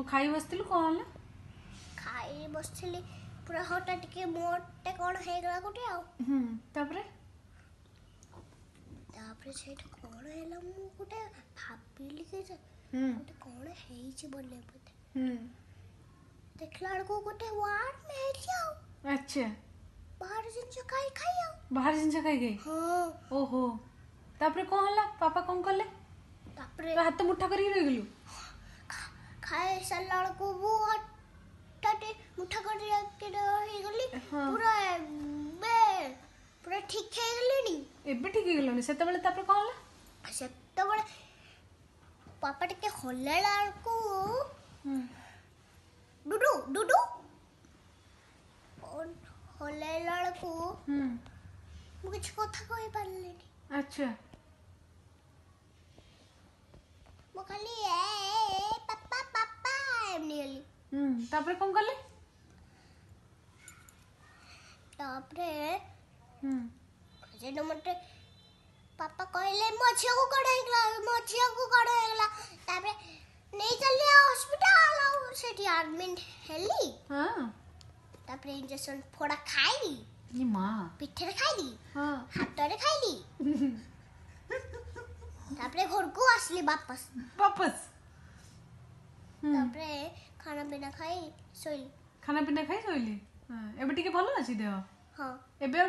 ଖାଇ ବସିଥିଲୁ, କଣ ହେଲା? ଖାଇ ବସିଥିଲି, ପୁରା ହଠାତ୍ ଟିକେ ମୋଟେ କ'ଣ ହେଇଗଲା ଗୋଟେ ଆଉ। ତାପରେ? ତାପରେ ସେଇଟା କ'ଣ ହେଲା, ମୁଁ ଗୋଟେ ଭାବିଲି କି ଗୋଟେ କ'ଣ ହେଇଛି ବୋଲି ବୋଧେ। ଦେଖିଲା ବେଳକୁ ଗୋଟେ ୱାର୍ମ ହେଇଛି ଆଉ। ଆଚ୍ଛା। ବାହାର ଜିନିଷ ଖାଇ ଖାଇ ଆଉ। ବାହାର ଜିନିଷ ଖାଇ ଖାଇ? ହଁ। ଓହୋ, ତାପରେ କଣ ହେଲା? ପାପା କଣ କଲେ? ତାପରେ ତୁ ହାତ ମୁଠା କରିକି ରହିଗଲୁ? ଖାଇ ସାରିଲା ବେଳକୁ ମୁଁ ହଠାତ୍ ମୁଠା କରିକି ରହିଗଲି। ପୁରା ଏବେ ପୁରା ଠିକ ହେଇଗଲିଣି। ଏବେ ଠିକ ହେଇଗଲାଣି। ସେତେବେଳେ ତାପରେ କଣ ହେଲା? ସେତେବେଳେ ପାପା ଟିକେ ହଲେଇଲା ବେଳକୁ, ଡୁଡୁ ଡୁଡୁ ହଲେଇଲା ବେଳକୁ ମୁଁ କିଛି କଥା କହିପାରିଲିନି। ଆଚ୍ଛା। ମୁଁ ଖାଲି ଏ ଏ ପାପା ପାପା ଏମିତି ହେଲି। ତାପରେ କଣ କଲେ? ତାପରେ ସେଇଠୁ ମତେ ପାପା କହିଲେ, ମୋ ଝିଅକୁ କଣ ହେଇଗଲା, ମୋ ଝିଅକୁ କଣ ହେଇଗଲା? ତାପରେ ନେଇ ଚାଲିଲେ ହସ୍ପିଟାଲ, ଆଉ ସେଠି ଆଡମିଟ୍ ହେଲି। ତାପରେ ଇଞ୍ଜେକ୍ସନ ଫୋଡ଼ା ଖାଇଲି। ଇ ମା! ପିଠରେ ଖାଇଲି, ହାତରେ ଖାଇଲି। ତାପରେ ଘରକୁ ଆସିଲି ବାପସ। ବାପସ। ତାପରେ ଖାନା ପିନା ଖାଇ ଶୋଇଲି। ଖାନା ପିନା ଖାଇ ଶୋଇଲି। ଏବେ ଟିକେ ଭଲ ଅଛି ଦେହ? ହଁ। ଏବେ ଆଉ